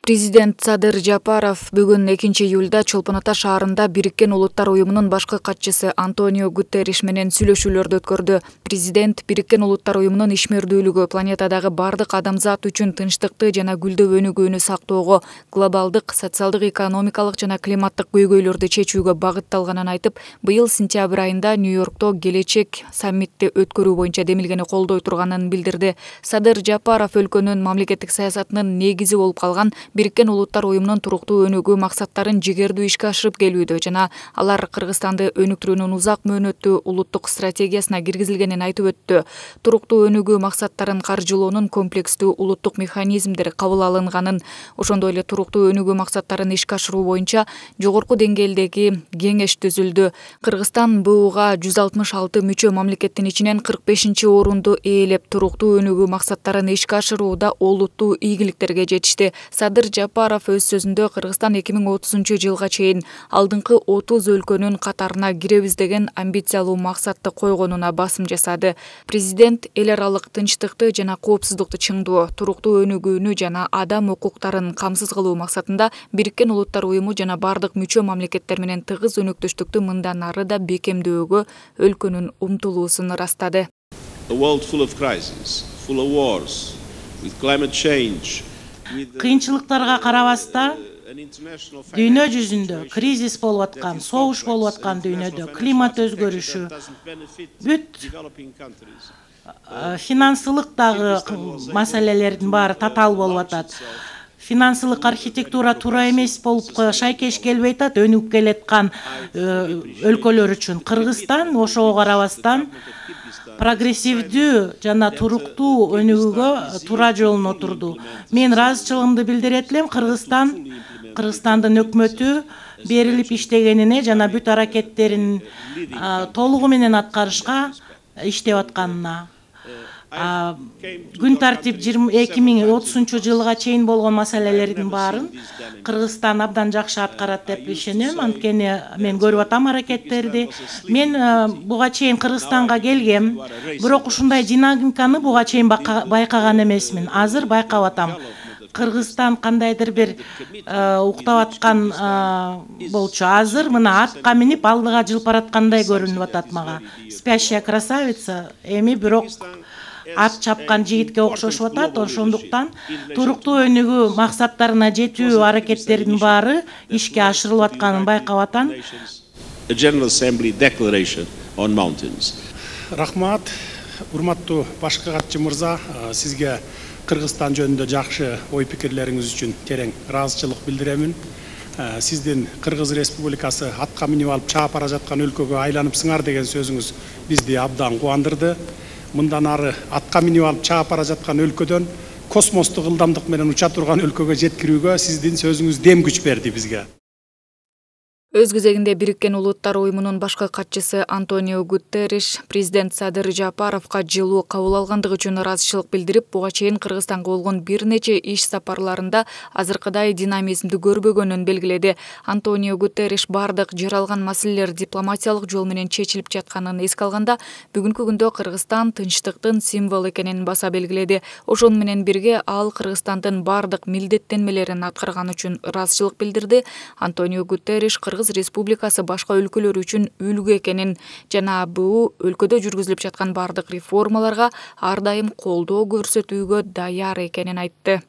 Президент Садыр Жапаров бүгүн 2-июлда Чолпон Ата шаарында Бириккен Улуттар уюмунун башкы катчысы Антонио Гутерриш менен сүйлөшүүлөрдү өткөрдү. Президент Бириккен Улуттар уюмунун ишмердүүлүгү планетадагы бардык адамзат үчүн тынчтыкты жана гүлдөө өнүгүүнү сактоого, глобалдык, социалдык, экономикалык жана климаттык көйгөйлөрдү чечүүгө багытталганын айтып, быйыл сентябрь айында Нью-Йоркто келечек саммитти өткөрүү боюнча демилгени колдой турганын билдирди. Садыр Жапаров өлкөнүн мамлекеттик саясатынын негизи болуп калган Бириккен Улуттар уюмунун туруктуу өнүгүү максаттарын жигердүү ишке ашырып келүүдө жана алар Кыргызстанды өнүктүрүүнүн узак мөөнөттүү улуттук стратегиясына киргизилгенин айтып өттү. Туруктуу өнүгүү максаттарын каржылоонун комплекстүү улуттук механизмдери кабыл алынганын, ошондой эле туруктуу өнүгүү максаттарын ишке ашыруу боюнча жогорку деңгээлдеги кеңеш түзүлдү. Кыргызстан БУга 166 мүчө мамлекеттин ичинен 45-орунду ээлеп, туруктуу өнүгүү максаттарын ишке ашырууда олуттуу ийгиликтерге жетишти. Садыр Жапаров өз сөзүндө Кыргызстан 2030-жылга чейин алдыңкы 30 өлкөнүн катарына киребиз деген амбициялуу максатты койгонуна басым жасады. Президент эл аралык тынчтыкты жана коопсуздукту чыңдоо, туруктуу өнүгүүнү жана адам укуктарын камсыз кылуу максатында Бириккен Улуттар уюму жана бардык мүчө мамлекеттер менен тыгыз өнөктөштүктү мындан ары да бекемдөөгө өлкөнүн умтулуусун ырастады. Кыйынчылыктарга карабастан дүйнө жүзүндө кризис болуп аткан, согуш болуп аткан дүйнөдө, климат өзгөрүшү, бүт финансылык дагы маселелердин баары татаал болуп атат. Финансылык архитектура туура эмес болуп шайкеш келбей атат, өнүгүп келаткан өлкөлөр үчүн. Кыргызстан ошого карабастан прогрессивдүү жана туруктуу өнүгүүгө туура жолун отурду. Мен ыраазычылыгымды билдирет элем Кыргызстандын өкмөтү берилип иштегенине жана бүт аракеттерин толугу менен аткарышка иштеп атканына. Күн тартип 2030-жылга чейин болгон маселелердин баарын Кыргызстан абдан жакшы аткарат деп ишенем. Анткени мен көрүп атам аракеттерди. Мен буга чейин Кыргызстанга келгем, бирок ушундай динамиканы буга чейин байкаган эмесмин. Азыр байкап атам. Кыргызстан кандайдыр бир уктап аткан болчу. Азыр мына атка минип алдыга жылып бараткандай көрүнүп атат мага. Спящая красавица, эми бирок ат чапкан жигитке окшошуп атат. Ошондуктан туруктуу өнүгүү максаттарына жетүү аракеттеринин баары ишке ашырылып атканын байкап атам. Рахмат, урматтуу башкы катчы мырза, сизге Кыргызстан жөнүндө жакшы ой пикирлериңиз үчүн терең ыраазычылык билдиремин. Сиздин Кыргыз Республикасы атка минип алып чаап бара жаткан өлкөгө айланыпсыңар деген сөзүңүз бизди абдан кубандырды. Мындан ары атка минип алып чаап бара жаткан өлкөдөн космостук ылдамдык менен уча турган өлкөгө жеткирүүгө сиздин сөзүңүз дем күч берди бизге. Өз кезегинде Бириккен Улуттар уюмунун башкы катчысы Антонио Гутерриш президент Садыр Жапаровго жылуу кабыл алгандыгы үчүн ыраазычылык билдирип, буга чейин Кыргызстанга болгон бир нече иш сапарларында азыркыдай динамизмди көрбөгөнүн белгиледи. Антонио Гутерриш бардык жаралган маселелер дипломатиялык жол менен чечилип жатканын эске алганда, бүгүнкү күндө Кыргызстан тынчтыктын символу экенин баса белгиледи. Ошону менен бирге ал Кыргызстандын бардык милдеттенмелерин аткарган үчүн ыраазычылык билдирди. Антонио Гутерриш Кыргыз Республикасы башка өлкөлөр үчүн үлгү экенин жана БУ өлкөдө жүргүзүлүп жаткан бардык реформаларга ар дайым колдоо көрсөтүүгө даяр экенин айтты.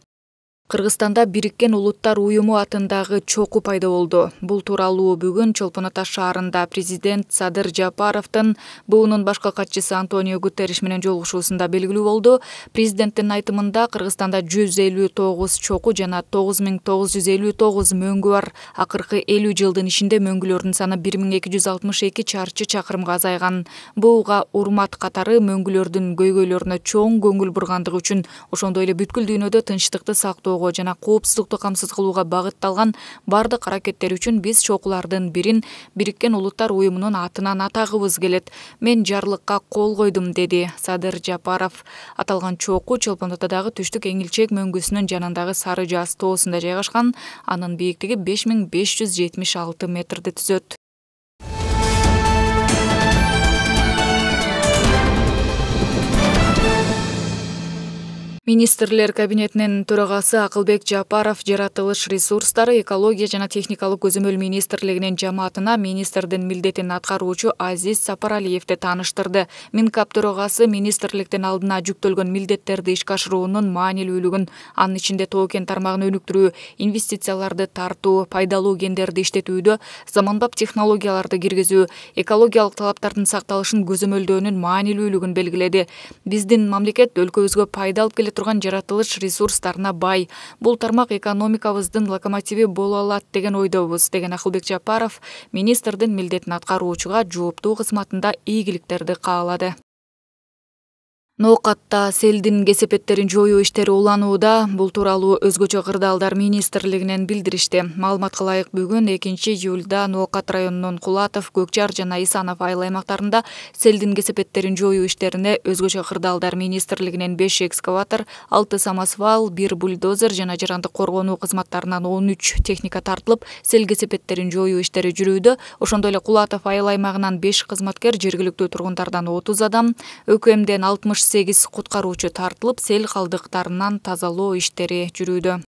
Кыргызстанда Бириккен Улуттар уюму атындагы чоку пайда болду. Бул тууралуу бүгүн Чолпон Ата шаарында президент Садыр Жапаровдун БУнун башкы катчысы Антонио Гутерриш менен жолугушуусунда белгилүү болду. Президенттин айтымында Кыргызстанда 159 чоку жана 9959 мөңгү бар. Акыркы 50 жылдын ичинде мөңгүлөрдүн саны 1262 чарчы чакырымга азайган. БУга урмат катары мөңгүлөрдүн көйгөйлөрүнө чоң көңүл бургандыгы үчүн, ошондой эле бүткүл дүйнөдө тынчтыкты сактоо жана коопсуздукту камсыз кылууга багытталган бардык аракеттер үчүн биз чокулардын бирин Бириккен Улуттар уюмунун атынан атагыбыз келет. Мен жарлыкка кол койдум, деди Садыр Жапаров. Аталган чоку Чолпон Атадагы түштүк эңилчек мөңгүсүнүн жанындагы Сары Жаз тоосунда жайгашкан. Анын бийиктиги 5576 метрди түзөт. Министрлер кабинетинин төрагасы Акылбек Жапаров жаратылыш ресурстары, экология жана техникалык көзөмөл министрлигинин жамаатына министрдин милдетин аткаруучу Азиз Сапаралиевди тааныштырды. Минкап төрагасы министрликтин алдына жүктөлгөн милдеттерди ишке ашыруунун маанилүүлүгүн, анын ичинде тоо-кен тармагын өнүктүрүү, инвестицияларды тартуу, пайдалуу кендерди иштетүүдө заманбап технологияларды киргизүү, экологиялык талаптардын сакталышын көзөмөлдөөнүн маанилүүлүгүн белгиледи. Биздин мамлекет өлкөбүзгө пайда алып келе турган жаратылыш ресурстарына бай. Бул тармак экономикабыздын локомотиви боло алат деген ойдобуз, деген Акылбек Жапаров министрдин милдетин аткаруучуга жооптуу кызматында ийгиликтерди каалады. Ноокатта селдин кесепеттерин жоюу иштери уланууда. Бул тууралуу өзгөчө кырдаалдар министрлигинен билдиришти. Маалыматка ылайык бүгүн 2-июлда Ноокат районунун Кулатов, Көкчар жана Исанов айыл аймактарында селдин кесепеттерин жоюу иштерине өзгөчө кырдаалдар министрлигинен 5 экскаватор, 6 самосвал, 1 бульдозер жана жарандык коргонуу кызматтарынан 13 техника тартылып, сел кесепеттерин жоюу иштери жүрүүдө. Ошондой эле Кулатов айыл аймагынан 5 кызматкер, жергиликтүү тургундардан 30 адам, ӨКМден 68 куткаруучу тартылып, сел калдыктарынан тазалоо иштери жүрүүдө.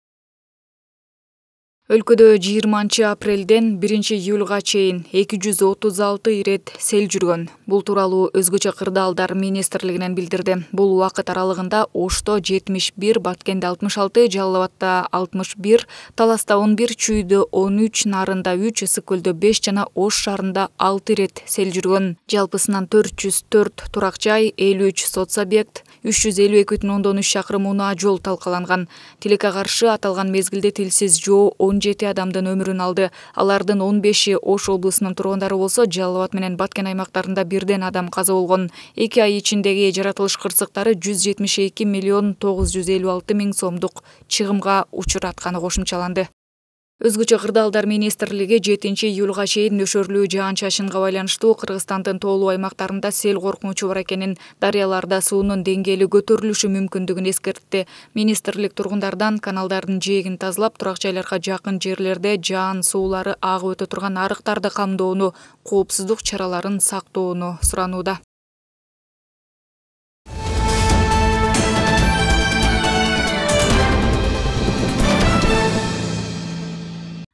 Өлкөдө 20 апрелден 1 июлга чейин 236 ирет сел жүргөн. Бул тууралуу өзгөчө кырдаалдар министрлигинен билдирди. Бул убакыт аралыгында Ошто 71, Баткенде 66, Жалал Абадда 61, Таласта 11, Чүйдө 13, Нарында 3, Ысык Көлдө 5 жана Ош шаарында 6 ирет сел жүргөн. Жалпысынан 404 турак жай, 53 соц объект, 352,3 чакырым унаа жол талкаланган. Тилекке каршы аталган мезгилде тилсиз жоо 17 адамдын өмүрүн алды. Алардын 15-и Ош облусунун тургундары болсо, Жалал Абад менен Баткен аймактарында бирден адам каза болгон. 2 ай ичиндеги жаратылыш кырсыктары 172 миллион 956 миң сомдук чыгымга учуратканы кошумчаланды. Өзгөчө кырдаалдар министрлиги 7 июлга чейин нөшөрлүү жаан-чачынга байланыштуу Кыргызстандын тоолуу аймактарында сел коркунучу бар экенин, дарыяларда суунун деңгээли көтөрүлүшү мүмкүндүгүн эскертти. Министрлик тургундардан каналдардын жээгин тазалап, турак жайларга жакын жерлерде жаан суулары агып өтө турган арыктарды камдоону, коопсуздук чараларын сактоону суранууда.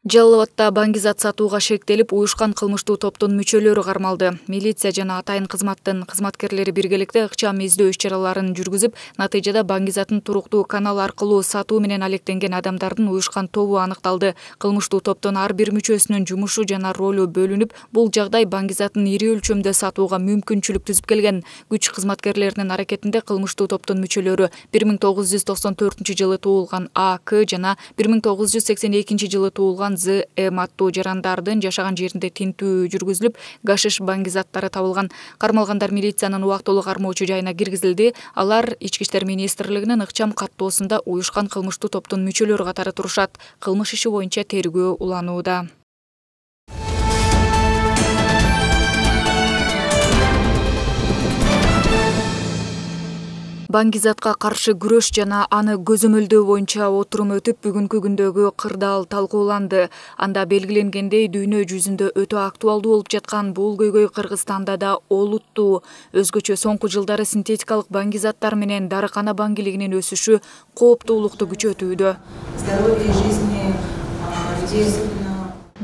Жалал Абадда баңгизат сатууга шектелип, уюшкан кылмыштуу топтун мүчөлөрү кармалды. Милиция жана атайын кызматтын кызматкерлери биргеликте ыкчам издөө иш-чараларын жүргүзүп, натыйжада баңгизаттын туруктуу канал аркылуу сатуу менен алектенген адамдардын уюшкан тобу аныкталды. Кылмыштуу топтун ар бир мүчөсүнүн жумушу жана ролу бөлүнүп, бул жагдай баңгизатын ири өлчөмдө сатууга мүмкүнчүлүк түзүп келген. Күч кызматкерлеринин аракетинде кылмыштуу топтун мүчөлөрү 1994 жылы туулган АК жана 1982 жылы туулган ЗМ аттуу жарандардын жашаган жеринде тинтүү жүргүзүлүп, гашиш баңгизаттары табылган. Кармалгандар милициянын убактылуу кармоочу жайына киргизилди. Алар Ички иштер министрлигинин ыкчам каттоосунда уюшкан кылмыштуу топтун мүчөлөрү катары турушат. Кылмыш иши боюнча тергөө уланууда. Баңгизатка каршы күрөш жана аны көзөмөлдөө боюнча отурум өтүп, бүгүнкү күндөгү кырдаал талкууланды. Анда белгиленгендей, дүйнө жүзүндө өтө актуалдуу болуп жаткан бул көйгөй Кыргызстанда да олуттуу. Өзгөчө соңку жылдары синтетикалык баңгизаттар менен дарыкана баңгилигинин өсүшү кооптуулукту күчөтүүдө.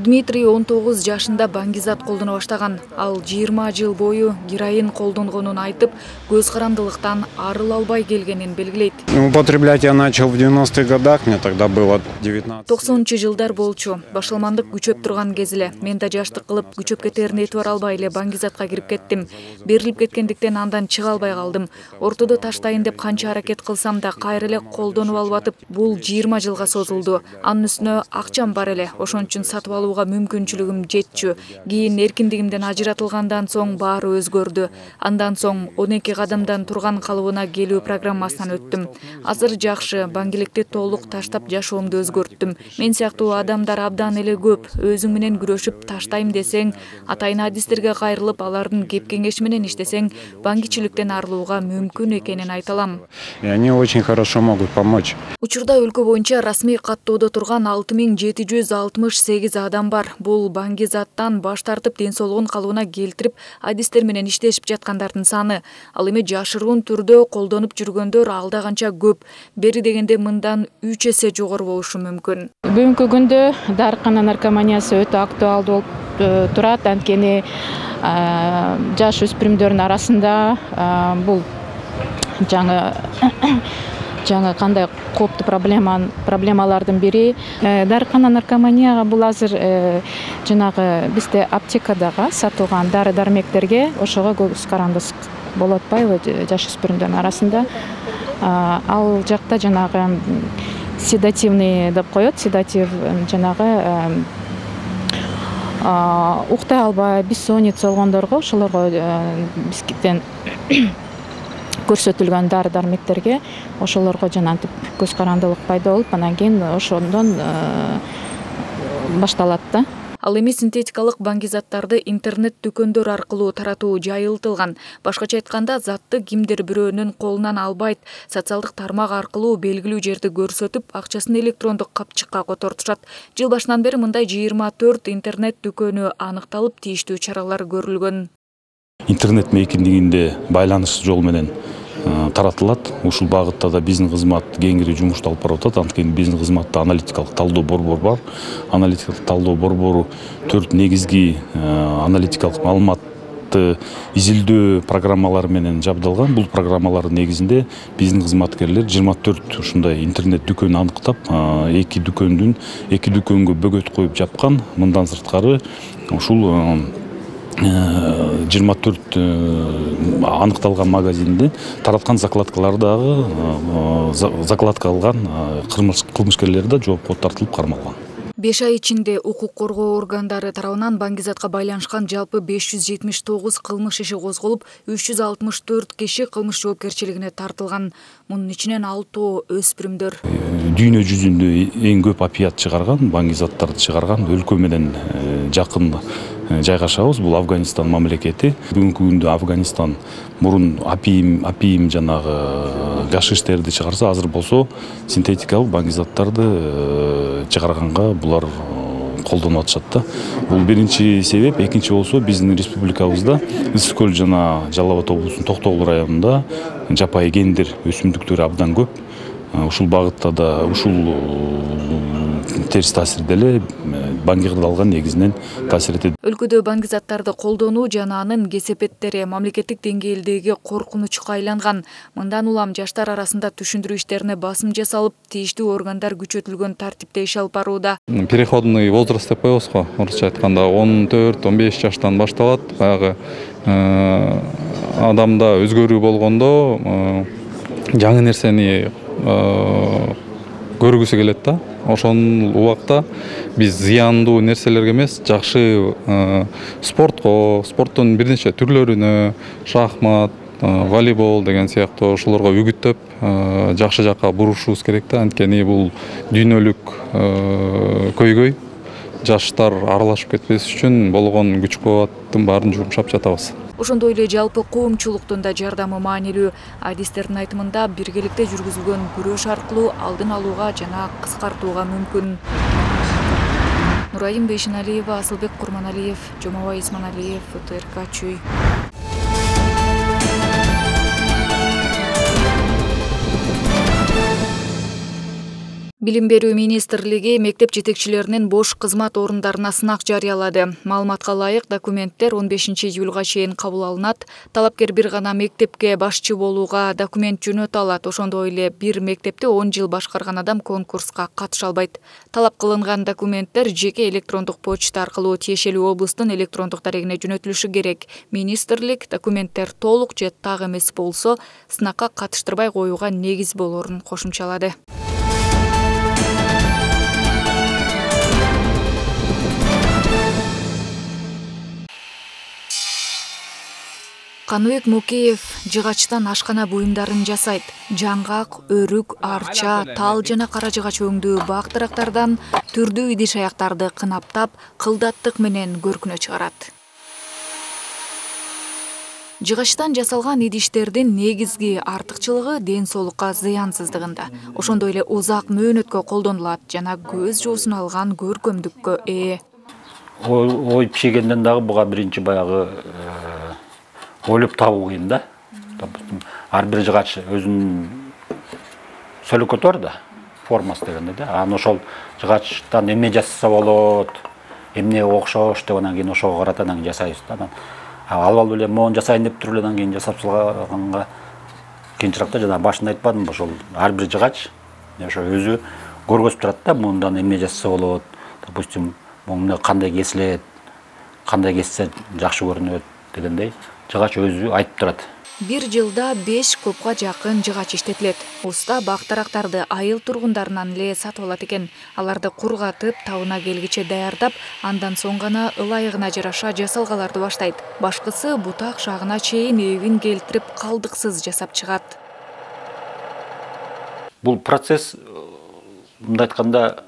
Дмитрий 19 жашында баңгизат колдоно баштаган. Ал 20 жыл бою героин колдонгонун айтып, көз карандылыктан арыла албай келгенин белгилейт. Употреблять я начал в 90-х годах, мне тогда было 19. 90-жылдар болчу. Башаламандык күчөп турган кез эле. Мен да жаштык кылып, күчөп кетерин этибар албай эле баңгизатка кирип кеттим. Берилип кеткендиктен андан чыга албай калдым. Ортодо таштайын деп канча аракет кылсам да кайра эле колдонуп алып атып, бул 20 жылга созулду. Анын үстүнө акчам бар эле. Ошон үчүн сатып алууга мүмкүнчүлүгүм жетчү. Кийин эркиндигимден ажыратылгандан соң баары өзгөрдү. Андан соң 12 кадамдан турган калыбына келүү программасынан өттүм. Азыр жакшы, баңгиликти толук таштап жашоомду өзгөрттүм. Мен сыяктуу адамдар абдан эле көп. Өзүң менен күрөшүп таштайм десең, атайын адистерге кайрылып, алардын кеп-кеңеши менен иштесең, баңгичиликтен арылууга мүмкүн экенин айта алам. И они очень хорошо могут помочь. Учурда өлкө боюнча расмий каттоодо турган 6768 адам адам бар. Бул баңгизаттан баш тартып ден соолугун калыбына келтирип, адистер менен иштешип жаткандардын саны. Ал эми жашыруун түрдө колдонуп жүргөндөр алда канча көп. Бери дегенде мындан 3 эсе жогору болушу мүмкүн. Бүгүнкү күндө дарыкана наркоманиясы өтө актуалдуу болуп турат. Анткени жаш өспүрүмдөрдүн арасында бул жаңы кандай кооптуу проблемалардын бири. Дарыкана наркоманияга бул азыр жанагы бизде аптекадагы сатылган дары-дармектерге ошого көз карандыск болуп атпайбы жаш өспүрүмдөрдүн арасында. Ал жакта жанагы седативный деп коет, седатив жанагы уктай албай, бессонница болгондорго ошолорго бизден көрсөтүлгөн дары-дармектерге ошолорго жанагынтип көз карандылык пайда болуп, анан кийин ошондон башталат да. Ал эми синтетикалык баңгизаттарды интернет дүкөндөр аркылуу таратуу жайылтылган. Башкача айтканда, затты кимдир бирөөнүн колунан албайт, социалдык тармак аркылуу белгилүү жерди көрсөтүп, акчасын электрондук капчыкка котортушат. Жыл башынан бери мындай 24 интернет дүкөнү аныкталып, тийиштүү чаралар көрүлгөн. Интернет мейкиндигинде байланыш жол менен таратылат. Ушул багытта да биздин кызмат кеңири жумушту алып барып атат. Анткени биздин кызматта аналитикалык талдоо борбору бар. Аналитикалык талдоо борбору 4 негизги аналитикалык маалыматты изилдөө программалары менен жабдалган. Бул программалардын негизинде биздин кызматкерлер 24 ушундай интернет дүкөн аныктап, 2 дүкөнгө бөгөт коюп жапкан. Мындан сырткары ушул 24 аныкталган магазинде тараткан закладкалар дагы закладка алган кылмышкерлер да жоопко тартылып кармалган. 5 ай ичинде укук коргоо органдары тарабынан баңгизатка байланышкан жалпы 579 кылмыш иши козголуп, 364 киши кылмыш жоопкерчилигине тартылган. Мунун ичинен 6 өспүрүмдөр. Дүйнө жүзүндө эң көп опиат чыгарган, баңгизаттарды чыгарган өлкө менен жакын жайгашабыз. Бул Афганистан мамлекети. Бүгүнкү күндө Афганистан мурун апиим жанагы гашиштерди чыгарса, азыр болсо синтетикалык баңгизаттарды чыгарганга булар колдонуп атышат да. Бул биринчи себеп. Экинчи болсо биздин республикабызда Ысык көл жана Жалал Абад облусунун Токтогул районунда жапайы гендер өсүмдүктөр абдан көп. Ушул багытта да ушул терс таасир деле баңгизатты алган негизинен таасир этет. Өлкөдө баңгизаттарды колдонуу жана анын кесепеттери мамлекеттик деңгээлдеги коркунучка айланган. Мындан улам жаштар арасында түшүндүрүү иштерине басым жасалып, тийиштүү органдар күчөтүлгөн тартипте иш алып барууда. Переходный возраст деп коебуз го, орусча айтканда 14-15 жаштан башталат. Баягы адамда өзгөрүү болгондо жаңы нерсени көргүсү келет да. Ошол убакта биз зыяндуу нерселерге эмес, жакшы спорттун бир нече түрлөрүнө, шахмат, волейбол деген сыяктуу ошолорго үгүттөп, жакшы жакка бурушубуз керек да. Анткени бул дүйнөлүк көйгөй, жаштар аралашып кетпес үчүн болгон күч-кубаттын баарын жумшап жатабыз. Ошондой эле жалпы коомчулуктун да жардамы маанилүү. Адистердин айтымында биргеликте жүргүзүлгөн күрөш аркылуу алдын алууга жана кыскартууга мүмкүн. Нурайым Бейшеналиева, Асылбек Курманалиев, Жомабай Исманалиев, ФТРК Чүй. Билим берүү министрлиги мектеп жетекчилеринин бош кызмат орундарына сынак жарыялады. Маалыматка ылайык, документтер 15 июлга чейин кабыл алынат. Талапкер бир гана мектепке башчы болууга документ жөнөтө алат. Ошондой эле бир мектепти 10 жыл башкарган адам конкурска катыша албайт. Талап кылынган документтер жеке электрондук почта аркылуу тиешелүү облустун электрондук дарегине жөнөтүлүшү керек. Министрлик документтер толук же так эмес болсо, сынакка катыштырбай коюуга негиз болорун кошумчалады. Каныбек Мукеев жыгачтан ашкана буюмдарын жасайт. Жаңгак, өрүк, арча, тал жана кара жыгач өңдүү бак-дарактардан түрдүү идиш аяктарды кынаптап, кылдаттык менен көркүнө чыгарат. Жыгачтан жасалган идиштердин негизги артыкчылыгы ден соолукка зыянсыздыгында. Ошондой эле узак мөөнөткө колдонулат жана көз жоосун алган көркөмдүккө ээ. ой пишигенден дагы буга биринчи баягы ойлоп табуу кыйын да. Допустим, ар бир жыгач өзүнүн сөлөкөтү бар да, формасы дегенде да. Анан ошол жыгачтан эмне жасаса болот, эмне окшош деп анан кийин ошого карата анан жасайбыз да. Албал эле моун жасайын деп туруп эле анан кийин жасап салганга кыйынчыраак да. Жана башында айтпадымбы, ошол ар бир жыгач ошо өзү көргөзүп турат да, мындан эмне жасаса болот. Допустим, муну кандай кесилет, кандай кессе жакшы көрүнөт дегендей жыгач өзү айтып турат. Бир жылда 5 кубга жакын жыгач иштетилет. Уста бактарактарды айыл тургундарынан эле сатып алат экен. Аларды кургатып, табына келгиче даярдап, андан соң гана ылайыгына жараша жасалгаларды баштайт. Башкысы бутак шагына чейин эбин келтирип, калдыксыз жасап чыгат. Бул процесс, мындай айтканда,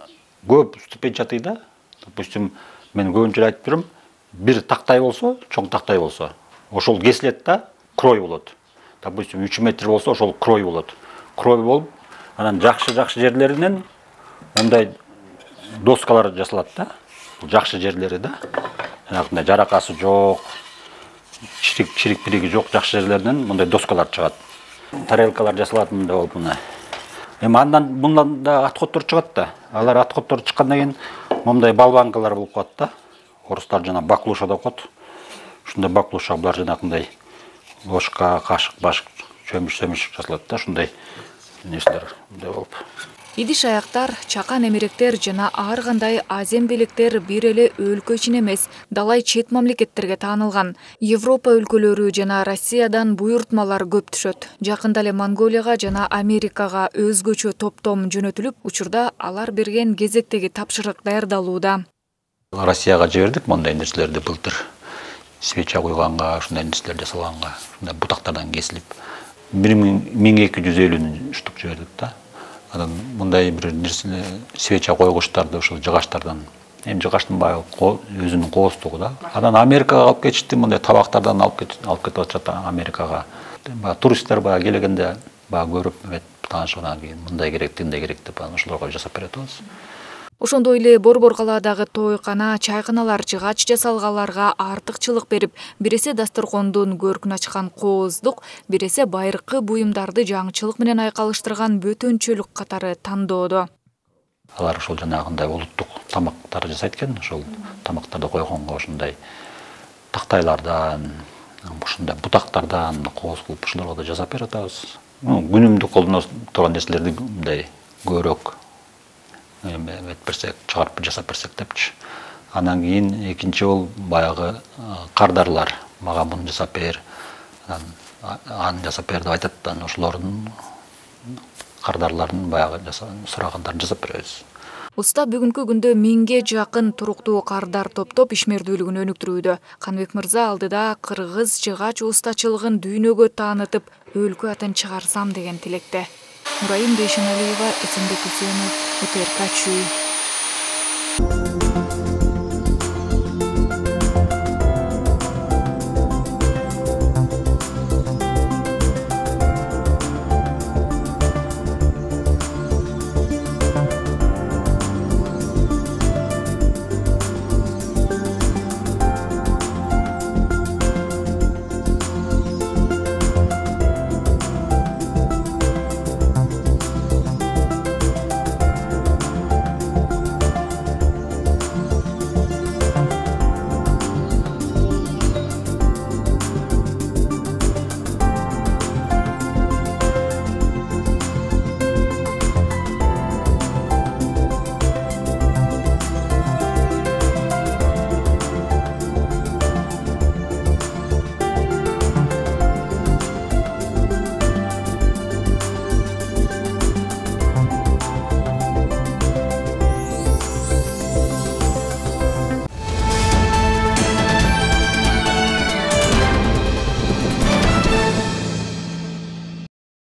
көп ступень жатый да. Допустим, мен көбүнчө айтып турам, бир тактай болсо, чоң тактай болсо, ошол кесилет да, крой болот. Допустим, 3 метр болсо, ошол крой болот. Крой болуп, анан жакшы жерлеринен мындай доскалар жасалат да. Бул жакшы жерлери да. Жанагындай жаракасы жок, чирик-пириги жок жакшы жерлеринен мындай доскалар чыгат. Тарелкалар жасалат мындай болуп мына. Эми андан мындан да отходтор чыгат да. Алар отходтор чыккандан кийин мындай балбанкалар болуп калат да. Орустар жана баклуша деп коет. Ушундай баклуша булар жанагындай ложка, кашык, башык, чөмүш жасалат да, ушундай нерселер мындай болуп. Идиш аяктар, чакан эмеректер жана ар кандай азем белектер бир эле өлкө ичин эмес, далай чет мамлекеттерге таанылган. Европа өлкөлөрү жана Россиядан буйртмалар көп түшөт. Жакында эле Монголияга жана Америкага өзгөчө топтом жөнөтүлүп, учурда алар берген кезектеги тапшырык даярдалууда. Россияга жибердик мондай нерселерди былтыр. Свеча койганга, ушундай нерселер жасалганга, ушундай бутактардан кесилип 1250 штук жибердик да. Анан мындай бир нерсе свеча койгучтарды ошол жыгачтардан, эми жыгачтын баягы өзүнүн кооздугу да. Анан Америкага алып кетишти, мындай табактардан алып кетип атышат Америкага. Баягы туристтер баягы келгенде баягы көрүп таанышкандан кийин мындай керек, тындай керек деп анан ошолорго жасап берет атабыз. Ошондой эле Борбор калаадагы тойкана, чайканалар жыгач жасалгаларга артыкчылык берип, биресе дасторкондун көркүн ачкан кооздук, биресе байыркы буюмдарды жаңычылык менен айкалыштырган бөтөнчөлүк катары тандоодо. Алар ошол жанагындай улуттук тамактар жасайт экен, ошол тамактарды койгонго ошондой тактайлардан, ушундай бутактардан кооз кылып ошолорго да жасап берип атабыз. Күнүмдүк колдоно турган нерселерди мындай көбүрөөк чыгарып жасап берсек депчи. Анан кийин экинчи ол баягы кардарлар, мага муну жасап бер, аны жасап бер деп айтат, анан ошолордун кардарларын баягы сурагандарын жасап беребиз. Уста бүгүнкү күндө 1000ге жакын туруктуу кардар топтоп ишмердүүлүгүн өнүктүрүүдө. Каныбек мырза алдыда кыргыз жыгач устачылыгын дүйнөгө таанытып, өлкө атын чыгарсам деген тилекте. Нурайым Бейшеналиева, Эсенбек Үсенов, УТРК.